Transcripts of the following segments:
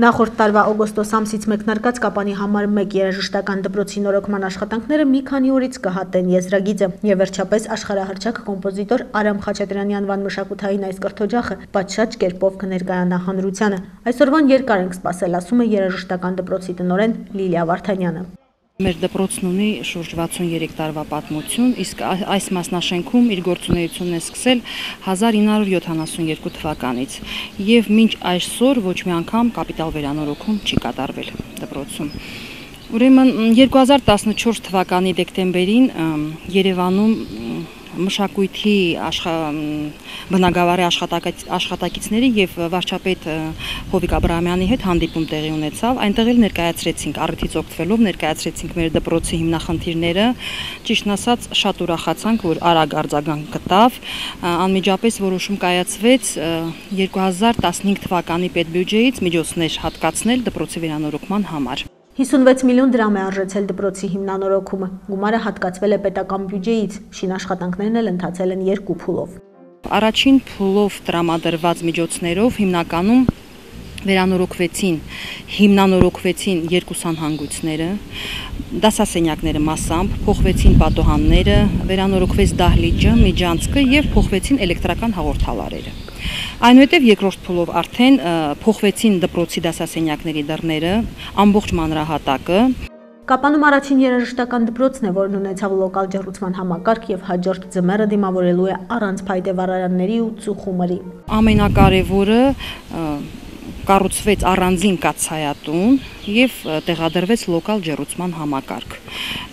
Նախորդ տարվա օգոստոս ամսից մեկնարկած Կապանի համար 1 երաժշտական դպրոցի նորոգման աշխատանքները մի քանի օրից կհատեն եզրագիծը եւ վերջապես աշխարհահռչակ կոմպոզիտոր Արամ Խաչատրյանի անվան մշակութային այս կրթօջախը պատշաճ կերպով կներկայանա հանրությանը։ Այսօրվան երկար ենք սպասել, ասում է երաժշտական դպրոցի տնօրեն Լիլիա Վարդանյանը։ Մեր դպրոցն ունի շուրջ 63 տարվա պատմություն, իսկ այս մասնաշենքում իր գործունեությունն է սկսել 1972 թվականից եւ մինչ այսօր ոչ մի անգամ կապիտալ վերանորոգում չի կատարվել դպրոցում։ Ուրեմն 2014 թվականի դեկտեմբերին Երևանում մշակույթի բնագավառի աշխատակիցների եւ վարչապետ Հովիկ Աբրահամյանի հետ հանդիպում տեղի ունեցավ։ Այնտեղ էլ ներկայացրեցինք, առիթից օգտվելով ներկայացրեցինք մեր դպրոցի հիմնախնդիրները։ Ճիշտն ասած, շատ ուրախացանք, որ արագ արձագանք գտավ։ Անմիջապես որոշում կայացվեց 2015 թվականի պետբյուջեից միջոցներ հատկացնել դպրոցի վերանորոգման համար։ 56 միլիոն դրամ է արժեցել դպրոցի հիմնանորոգումը։ Գումարը հատկացվել է պետական բյուջեից, շինաշխատանքներն էլ ընթացել են 2 փուլով։ Առաջին փուլով տրամադրված միջոցներով հիմնականում հիմնանորոգվեցին 2 սանհանգույցները, դասասենյակները մասամբ, փոխվեցին պատոհանները, վերանորոգվեց դահլիճը, միջանցքը եւ փոխվեցին էլեկտրական հաղորդալարերը։ Այնուհետև երկրորդ փուլով արդեն փոխվեցին դպրոցի դասասենյակների դռները, ամբողջ մանրահատակը։ Կապանում առաջին երաժշտական դպրոցն է, որն ունեցավ լոկալ ջեռուցման համակարգ եւ հաջորդ ձմեռը դիմավորելու է առանց փայտե վառարանների ու ծուխումրի։ Ամենակարևորը կառուցվեց առանձին կաթսայատուն եւ տեղադրվեց լոկալ ջեռուցման համակարգ։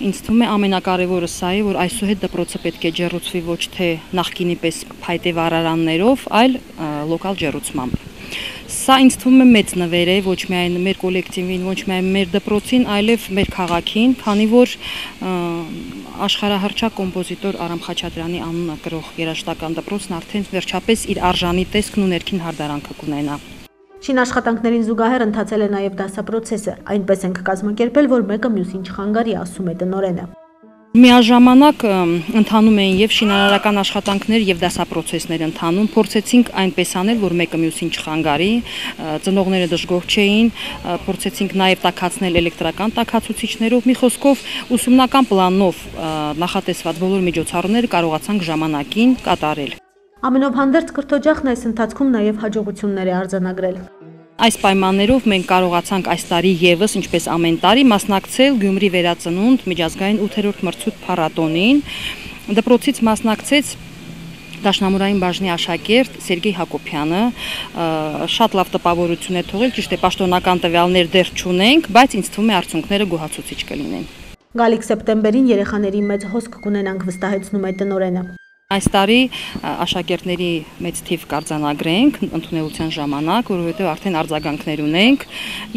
Ինձ թվում է ամենակարևորը սա է, որ այսուհետ դպրոցը պետք է ջեռուցվի ոչ թե նախկինի պես փայտե վառարաններով, այլ լոկալ ջեռուցմամբ։ Սա ինձ թվում է մեծ նվեր է ոչ միայն մեր կոլեկտիվին, ոչ միայն մեր դպրոցին, այլև մեր քաղաքին, քանի որ աշխարհահռչակ կոմպոզիտոր Արամ Խաչատրյանի անունը կրող երաժշտական դպրոցն արդեն վերջապես իր արժանի տեսքն ու ներքին հարդարանքը կունենա։ Շինաշխատանքներին զուգահեռ ընթացել է նաև դասապրոցեսը, այնպես ենք կազմակերպել, որ մեկը մյուսին չխանգարի, ասում է տնօրենը։ Միաժամանակ ընթանում էին եւ շինարարական աշխատանքներ եւ դասապրոցեսներ ընթանում, փորձեցինք այնպես անել, որ մեկը մյուսին չխանգարի, ծնողները դժգոհ չէին, փորձեցինք նաեւ տաքացնել էլեկտրական տաքացուցիչներով, մի խոսքով ուսումնական պլանով նախատեսված բոլոր միջոցառումները կարողացանք ժամանակին կատարել։ Ամենով հանդերձ կրթօջախն այս ընթացքում նաև հաջողություններ է արձանագրել։ Այս պայմաններով մենք կարողացանք այս տարի եւս, ինչպես ամեն տարի, մասնակցել Գյումրի վերածնունդ միջազգային 8-րդ մրցույթ փառատոնին։ Դպրոցից մասնակցեց Դաշնամուրային բաժնի աշակերտ Սերգեյ Հակոբյանը, շատ լավ տպավորություն է թողել, ճիշտ է, պաշտոնական տվյալներ դեռ չունենք, բայց ինձ թվում է արդյունքները գոհացուցիչ կլինեն։ Գալիք սեպտեմբերին երեխաների մեծ հոսք կունենանք, վստահեցնում է տնօրենը։ Այս տարի աշակերտների մեծ թիվ կարձանագրենք ընդունելության ժամանակ, որովհետև արդեն արձագանքներ ունենք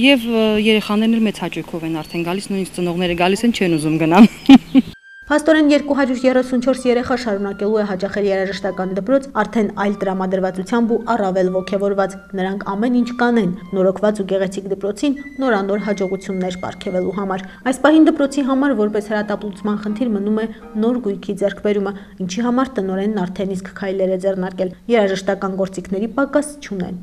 եւ երեխաներն էլ մեծ հաճույքով են արդեն գալիս, նույնիսկ ծնողները գալիս են, չեն ուզում գնան։ Փաստորեն 234 երեխա շարունակելու է հաճախել երաժշտական դպրոց արդեն այլ տրամադրվածությամբ ու առավել ոգևորված։ Նրանք ամեն ինչ կանեն նորոգված ու գեղեցիկ դպրոցին նորանոր հաջողություններ պարգևելու համար։ Այս պահին դպրոցի համար որպես հրատապլուծման խնդիր մնում է նոր գույքի ձեռքբերումը, ինչի համար տնօրենն արդեն իսկ քայլեր է ձեռնարկել։ Երաժշտական գործիքների պակաս չունեն։